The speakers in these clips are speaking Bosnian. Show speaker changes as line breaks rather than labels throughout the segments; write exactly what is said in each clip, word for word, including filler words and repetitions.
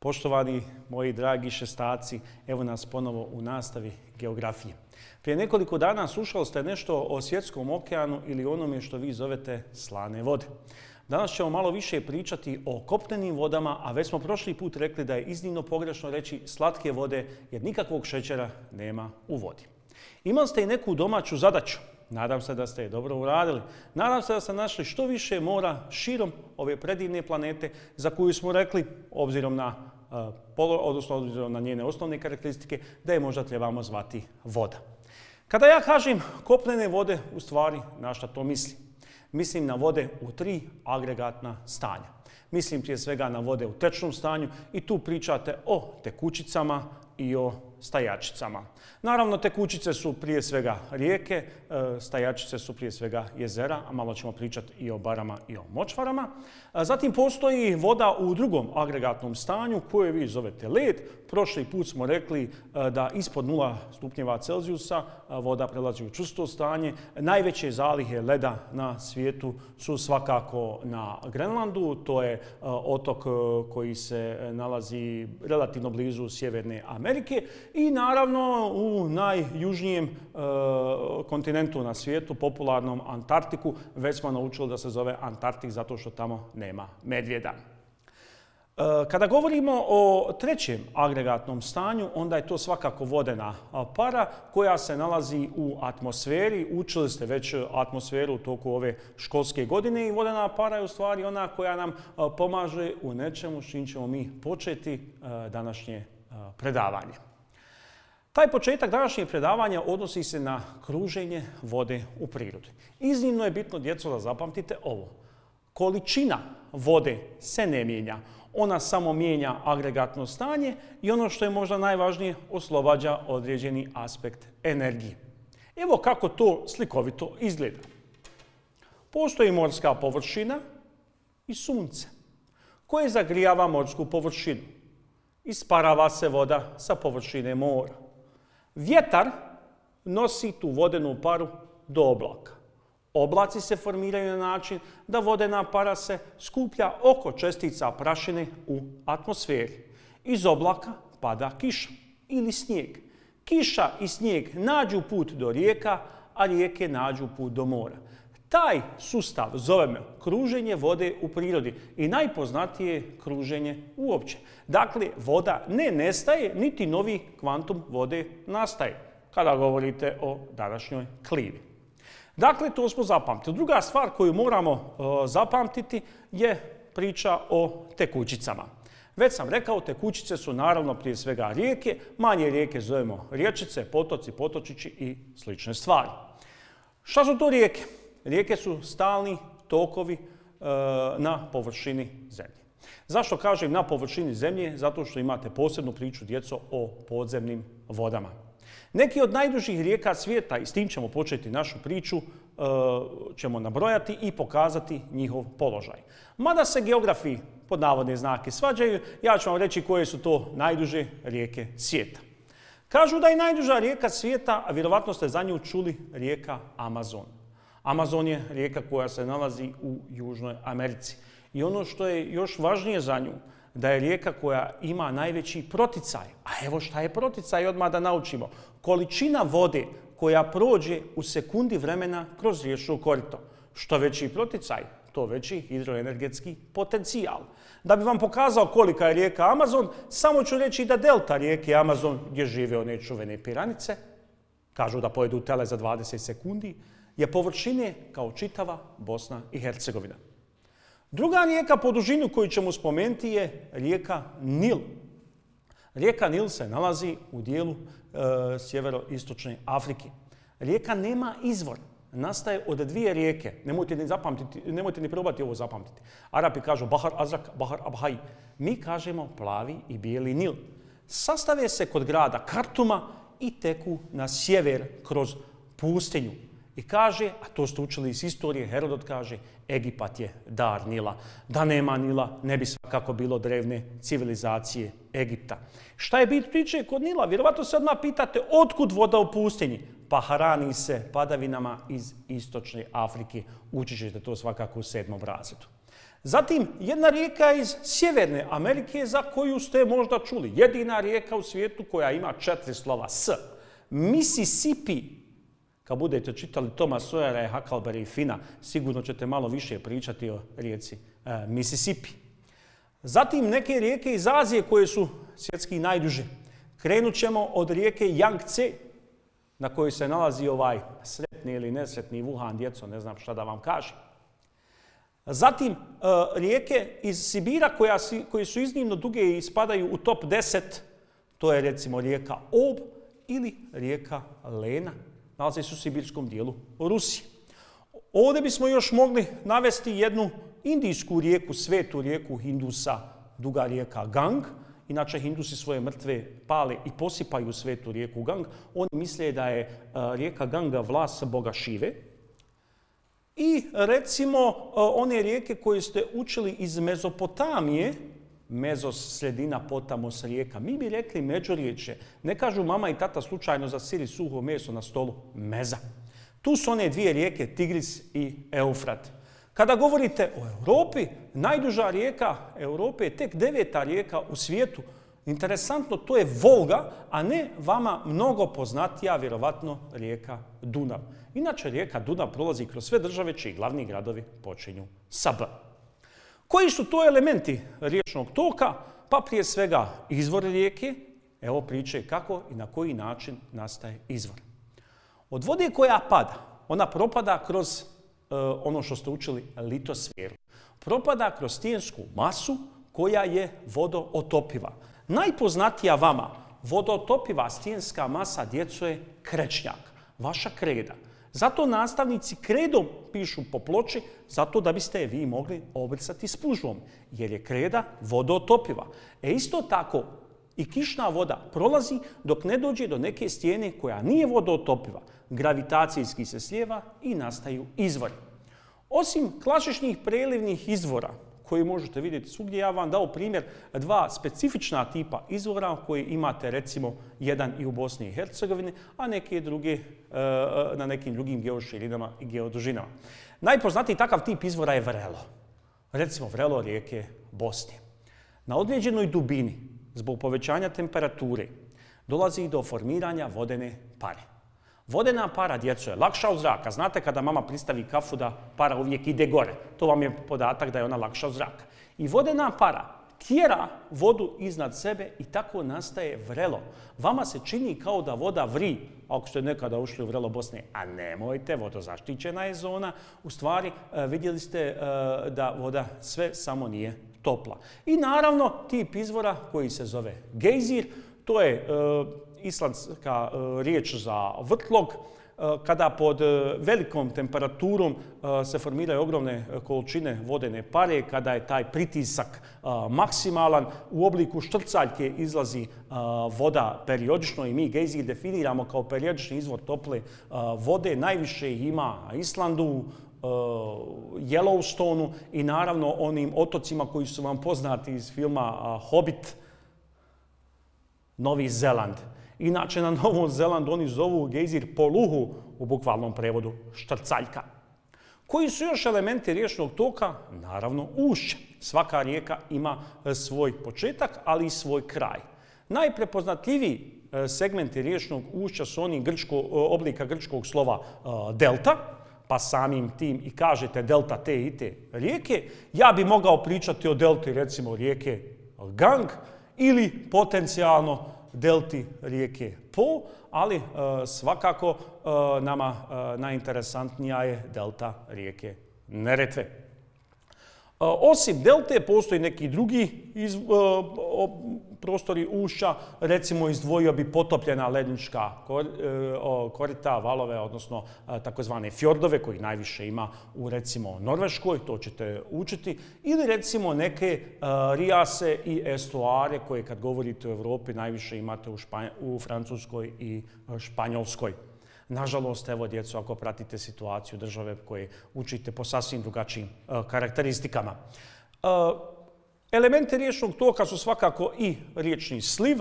Poštovani moji dragi šestaci, evo nas ponovo u nastavi geografije. Prije nekoliko dana slušali ste nešto o svjetskom okeanu ili onome što vi zovete slane vode. Danas ćemo malo više pričati o kopnenim vodama, a već smo prošli put rekli da je iznimno pogrešno reći slatke vode jer nikakvog šećera nema u vodi. Imali ste i neku domaću zadaću. Nadam se da ste je dobro uradili. Nadam se da ste našli što više mora širom ove predivne planete za koju smo rekli, obzirom na, odnosno obzirom na njene osnovne karakteristike, da je možda trebamo zvati voda. Kada ja kažem kopnene vode, u stvari na šta to mislim? Mislim na vode u tri agregatna stanja. Mislim prije svega na vode u tečnom stanju i tu pričate o tekućicama i o stajačicama. Naravno, tekućice su prije svega rijeke, stajačice su prije svega jezera, a malo ćemo pričati i o barama i o močvarama. Zatim postoji voda u drugom agregatnom stanju koje vi zovete led. Prošli put smo rekli da ispod nula stupnjeva Celzijusa voda prelazi u čvrsto stanje. Najveće zalihe leda na svijetu su svakako na Grenlandu. To je otok koji se nalazi relativno blizu Sjeverne Amerike. I naravno u najjužnijem e, kontinentu na svijetu, popularnom Antarktiku, već smo naučili da se zove Antarktik zato što tamo nema medvjeda. E, kada govorimo o trećem agregatnom stanju, onda je to svakako vodena para koja se nalazi u atmosferi. Učili ste već atmosferu u toku ove školske godine i vodena para je u stvari ona koja nam pomaže u nečemu s čim ćemo mi početi e, današnje e, predavanje. Taj početak današnjeg predavanja odnosi se na kruženje vode u prirodi. Iznimno je bitno, djeco, da zapamtite ovo. Količina vode se ne mijenja. Ona samo mijenja agregatno stanje i ono što je možda najvažnije, oslobađa određeni aspekt energije. Evo kako to slikovito izgleda. Postoji morska površina i sunce koje zagrijava morsku površinu. Isparava se voda sa površine mora. Vjetar nosi tu vodenu paru do oblaka. Oblaci se formiraju na način da vodena para se skuplja oko čestica prašine u atmosferi. Iz oblaka pada kiša ili snijeg. Kiša i snijeg nađu put do rijeka, a rijeke nađu put do mora. Taj sustav zovemo kruženje vode u prirodi i najpoznatije kruženje uopće. Dakle, voda ne nestaje, niti novi kvantum vode nastaje, kada govorite o današnjoj klimi. Dakle, to smo zapamtili. Druga stvar koju moramo uh, zapamtiti je priča o tekućicama. Već sam rekao, tekućice su naravno prije svega rijeke, manje rijeke zovemo riječice, potoci, potočići i slične stvari. Šta su to rijeke? Rijeke su stalni tokovi e, na površini zemlje. Zašto kažem na površini zemlje? Zato što imate posebnu priču, djeco, o podzemnim vodama. Neki od najdužih rijeka svijeta, i s tim ćemo početi našu priču, e, ćemo nabrojati i pokazati njihov položaj. Mada se geografi pod navodne znake svađaju, ja ću vam reći koje su to najduže rijeke svijeta. Kažu da je najduža rijeka svijeta, a vjerovatno ste za nju čuli, rijeka Amazon. Amazon je rijeka koja se nalazi u Južnoj Americi. I ono što je još važnije za nju, da je rijeka koja ima najveći proticaj. A evo šta je proticaj, odmah da naučimo. Količina vode koja prođe u sekundi vremena kroz riječno korito. Što veći proticaj, to veći hidroenergetski potencijal. Da bi vam pokazao kolika je rijeka Amazon, samo ću reći da delta rijeke Amazon, gdje žive one čuvene piranice, kažu da pojedu tele za dvadeset sekundi, je površine kao čitava Bosna i Hercegovina. Druga rijeka po dužini koju ćemo spomenuti je rijeka Nil. Rijeka Nil se nalazi u dijelu e, sjeveroistočne Afrike. Rijeka nema izvor. Nastaje od dvije rijeke. Nemojte ni, zapamtiti, nemojte ni probati ovo zapamtiti. Arapi kažu Bahar Azrak, Bahar Abhai. Mi kažemo plavi i bijeli Nil. Sastave se kod grada Kartuma i teku na sjever kroz pustinju. I kaže, a to ste učili iz istorije, Herodot kaže, Egipat je dar Nila. Da nema Nila, ne bi svakako bilo drevne civilizacije Egipta. Šta je bit priče kod Nila? Vjerovatno se odmah pitate, otkud voda u pustinji? pa hrani se padavinama iz istočne Afrike. Učit ćete to svakako u sedmom razredu. Zatim, jedna rijeka iz Sjeverne Amerike za koju ste možda čuli. Jedina rijeka u svijetu koja ima četiri slova S. Mississippi. Kad budete čitali Toma Sawyera, Huckleberry i Fina, sigurno ćete malo više pričati o rijeci e, Mississippi. Zatim, neke rijeke iz Azije koje su svjetski najduže. Krenut ćemo od rijeke Yangtze, na kojoj se nalazi ovaj sretni ili nesretni Wuhan, djeco, ne znam šta da vam kažem. Zatim, e, rijeke iz Sibira koja si, koje su iznimno duge i spadaju u top deset, to je recimo rijeka Ob ili rijeka Lena, nalazi se u sibirskom dijelu Rusije. Ovdje bismo još mogli navesti jednu indijsku rijeku, svetu rijeku Hindusa, duga rijeka Gang. Inače, Hindusi svoje mrtve pale i posipaju svetu rijeku Gang. Oni misle da je uh, rijeka Ganga vlas boga Šive. I recimo uh, one rijeke koje ste učili iz Mezopotamije, Mezos, sredina, Potamos, rijeka. Mi bi rekli međuriječje. Ne kažu mama i tata slučajno za sir i suho meso na stolu. Meza. Tu su one dvije rijeke, Tigris i Eufrat. Kada govorite o Europi, najduža rijeka Europe je tek deveta rijeka u svijetu. Interesantno, to je Volga, a ne vama mnogo poznatija, vjerovatno, rijeka Dunav. Inače, rijeka Dunav prolazi kroz sve države čiji glavni gradovi počinju sa B. Koji su to elementi riječnog toka? Pa prije svega izvor rijeke. Evo priče kako i na koji način nastaje izvor. Od vode koja pada, ona propada kroz uh, ono što ste učili, litosferu. Propada kroz stijensku masu koja je vodootopiva. Najpoznatija vama vodootopiva stijenska masa, djeco, je krečnjak, vaša kreda. Zato nastavnici kredom pišu po ploči, zato da biste je vi mogli obrisati spužvom, jer je kreda vodootopiva. E isto tako i kišna voda prolazi dok ne dođe do neke stijene koja nije vodootopiva. Gravitacijski se slijeva i nastaju izvori. Osim klasičnih prelivnih izvora, koji možete vidjeti svugdje, ja vam dao primjer dva specifična tipa izvora koji imate recimo jedan i u Bosni i Hercegovini, a neke druge na nekim drugim geoširinama i geodužinama. Najpoznatiji takav tip izvora je vrelo. Recimo vrelo rijeke Bosne. Na određenoj dubini, zbog povećanja temperature, dolazi do formiranja vodene pare. Vodena para, djeco, je lakša od zraka. Znate kada mama pristavi kafu da para uvijek ide gore. To vam je podatak da je ona lakša od zraka. I vodena para tjera vodu iznad sebe i tako nastaje vrelo. Vama se čini kao da voda vri, ako ste nekada ušli u vrelo Bosne, a nemojte, vodozaštićena je zona. U stvari, vidjeli ste da voda sve samo nije topla. I naravno, tip izvora koji se zove gejzir, to je islandska riječ za vrtlog, kada pod velikom temperaturom se formiraju ogromne količine vodene pare, kada je taj pritisak maksimalan, u obliku štrcaljke izlazi voda periodično i mi gejzir definiramo kao periodični izvor tople vode. Najviše ih ima na Islandu, Yellowstoneu i naravno onim otocima koji su vam poznati iz filma Hobbit, Novi Zeland. Inače, na Novom Zelandu oni zovu gejzir poluhu, u bukvalnom prevodu štrcaljka. Koji su još elementi riječnog toka? Naravno, ušće. Svaka rijeka ima svoj početak, ali i svoj kraj. Najprepoznatljiviji segmenti riječnog ušća su oni grčko, oblika grčkog slova delta, pa samim tim i kažete delta te i te rijeke. Ja bi mogao pričati o delti, recimo, rijeke Gang ili potencijalno delti rijeke Po, ali uh, svakako uh, nama uh, najinteresantnija je delta rijeke Neretve. Uh, osim delte postoji neki drugi iz, uh, prostori ušća, recimo izdvojio bi potopljena lednička kor, uh, korita, valove, odnosno uh, takozvane fjordove, koji najviše ima u recimo Norveškoj, to ćete učiti, ili recimo neke uh, rijase i estuare koje kad govorite o Evropi najviše imate u, Španj u Francuskoj i Španjolskoj. Nažalost, evo djeco, ako pratite situaciju države koje učite po sasvim drugačijim uh, karakteristikama. Uh, Elementi riječnog toka su svakako i riječni sliv,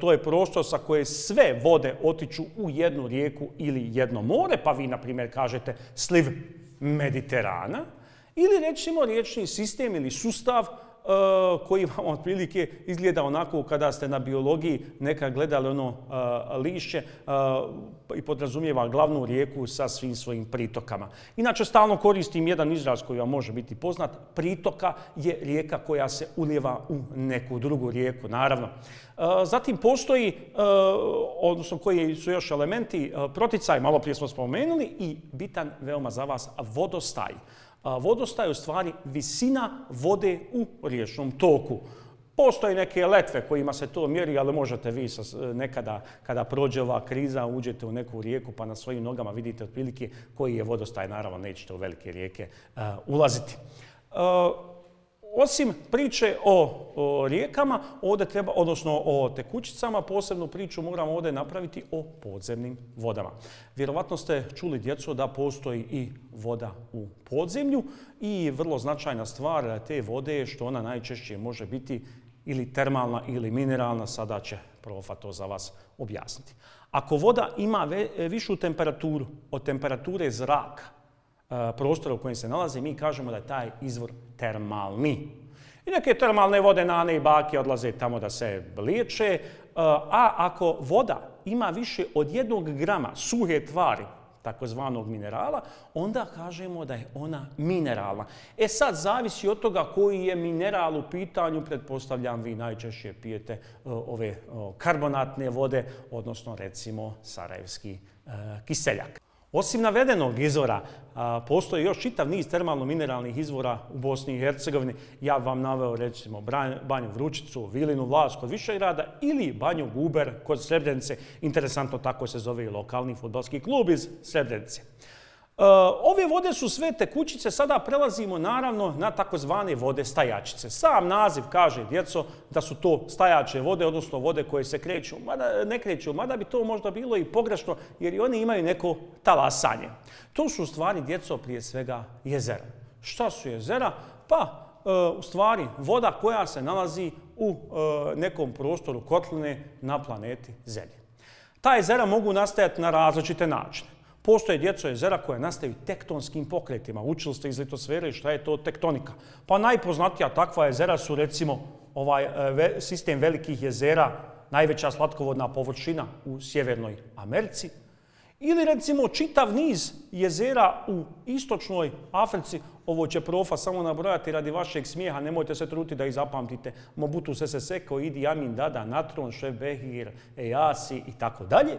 to je prostor sa koje sve vode otiču u jednu rijeku ili jedno more, pa vi, na primjer, kažete sliv Mediterana, ili recimo riječni sistem ili sustav koji vam otprilike izgleda onako kada ste na biologiji nekad gledali ono lišće i podrazumijeva glavnu rijeku sa svim svojim pritokama. Inače, stalno koristim jedan izraz koji vam može biti poznat. Pritoka je rijeka koja se ulijeva u neku drugu rijeku, naravno. Zatim postoji, odnosno koji su još elementi, proticaj, malo prije smo spomenuli, i bitan veoma za vas, vodostaj. Vodostaj je u stvari visina vode u riječnom toku. Postoje neke letve kojima se to mjeri, ali možete vi nekada, kada prođe ova kriza, uđete u neku rijeku pa na svojim nogama vidite otprilike koji je vodostaj. Naravno, nećete u velike rijeke uh, ulaziti. Uh, Osim priče o, o rijekama, ovdje treba, odnosno o tekućicama, posebnu priču moramo ovdje napraviti o podzemnim vodama. Vjerovatno ste čuli, djeco, da postoji i voda u podzemlju i vrlo značajna stvar te vode je što ona najčešće može biti ili termalna ili mineralna, sada će profa to za vas objasniti. Ako voda ima višu temperaturu od temperature zraka, prostora u kojem se nalazi, mi kažemo da je taj izvor termalni. I neke termalne vode, nane i bake odlaze tamo da se liječe, a ako voda ima više od jednog grama suhe tvari, takozvanog minerala, onda kažemo da je ona mineralna. E sad, zavisi od toga koji je mineral u pitanju, pretpostavljam vi najčešće pijete ove karbonatne vode, odnosno recimo sarajevski kiseljak. Osim navedenog izvora, postoji još čitav niz termalno-mineralnih izvora u Bosni i Hercegovini. Ja vam naveo recimo Banju Vručicu, Vilinu Vlaš kod Višegrada ili Banju Guber kod Srebrenice. Interesantno, tako se zove i lokalni fudbalski klub iz Srebrenice. Ove vode su sve tekućice, sada prelazimo naravno na takozvane vode stajačice. Sam naziv kaže, djeco, da su to stajače vode, odnosno vode koje se kreću, mada ne kreću, mada bi to možda bilo i pogrešno, jer i oni imaju neko talasanje. To su u stvari, djeco, prije svega jezera. Šta su jezera? Pa, u stvari, voda koja se nalazi u nekom prostoru kotline na planeti Zemlji. Ta jezera mogu nastajati na različite načine. Postoje, djeco, jezera koje nastaju tektonskim pokretima. Učili ste iz litosfere šta je to tektonika. Pa najpoznatija takva jezera su recimo ovaj sistem velikih jezera, najveća slatkovodna površina u Sjevernoj Americi. Ili recimo čitav niz jezera u istočnoj Africi. Ovo će profa samo nabrojati radi vašeg smijeha, nemojte se truditi da ih zapamtite. Mobutu Sese Seko, Idi Amin Dada, Natron, Šef Behir, Ejasi i tako dalje.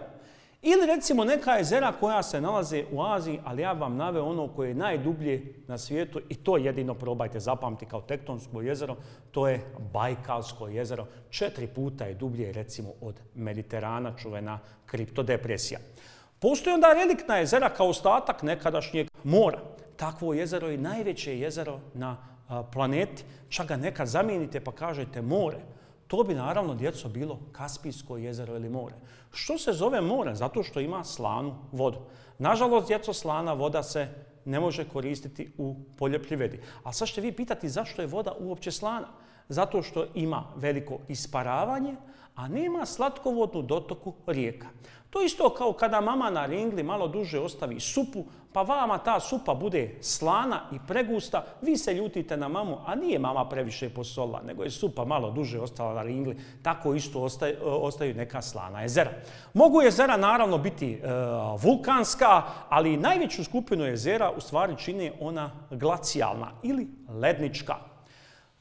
Ili recimo neka jezera koja se nalaze u Aziji, ali ja vam naveo ono koje je najdublje na svijetu i to jedino probajte zapamti kao tektonsko jezero, to je Bajkalsko jezero. Četiri puta je dublje recimo od Mediterana, čuvena kriptodepresija. Postoji onda reliktna jezera kao ostatak nekadašnjeg mora. Takvo jezero je najveće jezero na planeti. Čak ga nekad zamijenite pa kažete more. To bi naravno, djeco, bilo Kaspijsko jezero ili more. Što se zove more? Zato što ima slanu vodu. Nažalost, djeco, slana voda se ne može koristiti u poljoprivredi. A sad ćete vi pitati zašto je voda uopće slana? Zato što ima veliko isparavanje, a nema slatkovodnu dotoku rijeka. To isto kao kada mama na ringli malo duže ostavi supu, pa vama ta supa bude slana i pregusta, vi se ljutite na mamu, a nije mama previše posolila, nego je supa malo duže ostala na ringli, tako isto ostaju, ostaju neka slana jezera. Mogu jezera naravno biti e, vulkanska, ali najveću skupinu jezera u stvari čini ona glacijalna ili lednička.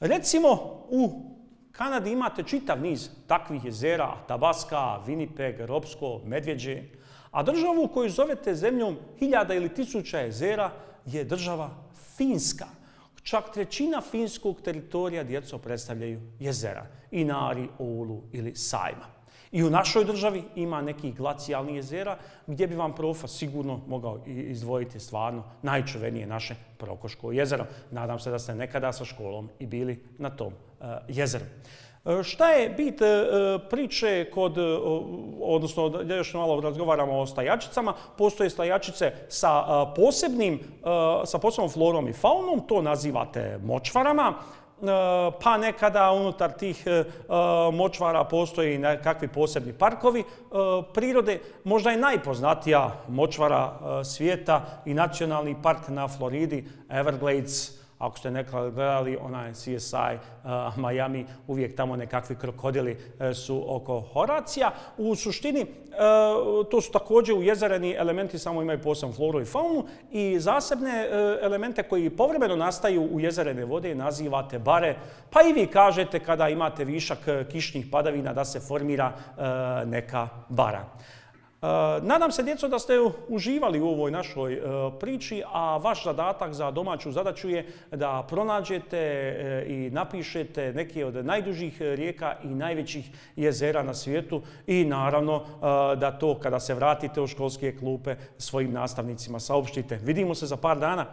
Recimo u Kanadi imate čitav niz takvih jezera, Tabaska, Winnipeg, Robsko, Medvjeđe, a državu koju zovete zemljom hiljada ili tisuća jezera je država Finska. Čak trećina finskog teritorija, djeco, predstavljaju jezera, Inari, Oulu ili Sajma. I u našoj državi ima nekih glacijalnih jezera gdje bi vam profa sigurno mogao izdvojiti stvarno najčuvenije naše Prokoško jezero. Nadam se da ste nekada sa školom i bili na tom uh, jezeru. Uh, šta je bit uh, priče kod, uh, odnosno da još malo razgovaramo o stajačicama, postoje stajačice sa, uh, posebnim, uh, sa posebnom florom i faunom, to nazivate močvarama. pa nekada unutar tih močvara postoji nekakvi posebni parkovi prirode. Možda je najpoznatija močvara svijeta i nacionalni park na Floridi, Everglades. Ako ste nekada gledali onaj C S I uh, Miami, uvijek tamo nekakvi krokodili uh, su oko Horacija. U suštini, uh, to su također ujezereni elementi, samo imaju posebnu floru i faunu i zasebne uh, elemente koji povremeno nastaju u jezerene vode nazivate bare. Pa i vi kažete kada imate višak kišnih padavina da se formira uh, neka bara. Uh, nadam se, djeco, da ste uživali u ovoj našoj uh, priči, a vaš zadatak za domaću zadaću je da pronađete uh, i napišete neke od najdužih rijeka i najvećih jezera na svijetu i naravno uh, da to kada se vratite u školske klupe svojim nastavnicima saopštite. Vidimo se za par dana.